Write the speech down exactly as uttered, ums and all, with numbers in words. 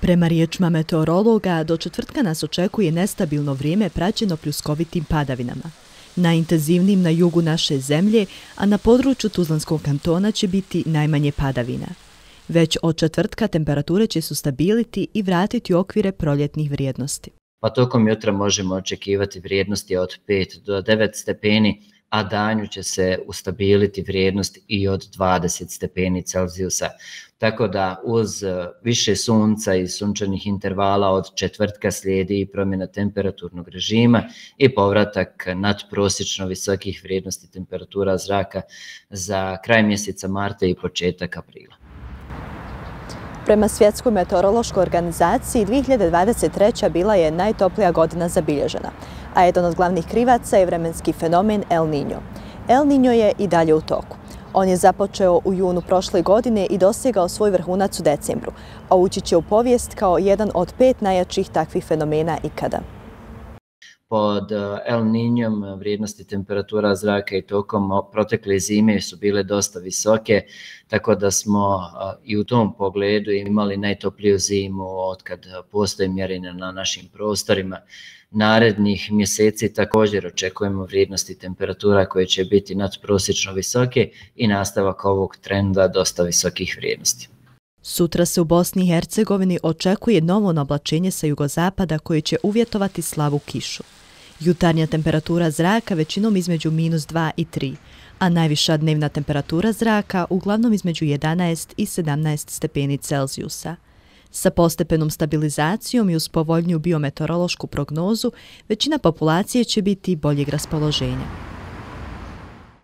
Prema riječima meteorologa, do četvrtka nas očekuje nestabilno vrijeme praćeno pljuskovitim padavinama. Najintenzivnijim na jugu naše zemlje, a na području Tuzlanskog kantona će biti najmanje padavina. Već od četvrtka temperature će se ustabiliti i vratiti u okvire proljetnih vrijednosti. Pa tokom jutra možemo očekivati vrijednosti od pet do devet stepeni, a danju će se ustabiliti vrijednost i od dvadeset stepeni Celzijusa. Tako da uz više sunca i sunčanih intervala od četvrtka slijedi i promjena temperaturnog režima i povratak nadprosječno visokih vrijednosti temperatura zraka za kraj mjeseca marta i početak aprila. Prema Svjetskoj meteorološkoj organizaciji, dvije hiljade dvadeset treća bila je najtoplija godina zabilježena, a jedan od glavnih krivaca je vremenski fenomen El Niño. El Niño je i dalje u toku. On je započeo u junu prošle godine i dosegao svoj vrhunac u decembru, a ući će u povijest kao jedan od pet najjačih takvih fenomena ikada. Pod El Niñom vrijednosti temperatura zraka i tokom protekle zime su bile dosta visoke, tako da smo i u tom pogledu imali najtopliju zimu otkad postoje mjerenja na našim prostorima. Narednih mjeseci također očekujemo vrijednosti temperatura koje će biti nadprosječno visoke i nastavak ovog trenda dosta visokih vrijednosti. Sutra se u Bosni i Hercegovini očekuje novo oblačenje sa jugozapada koje će uvjetovati slabu kišu. Jutarnja temperatura zraka većinom između minus dva i tri, a najviša dnevna temperatura zraka uglavnom između jedanaest i sedamnaest stepeni Celzijusa. Sa postepenom stabilizacijom i uz povoljniju biometeorološku prognozu, većina populacije će biti boljeg raspoloženja.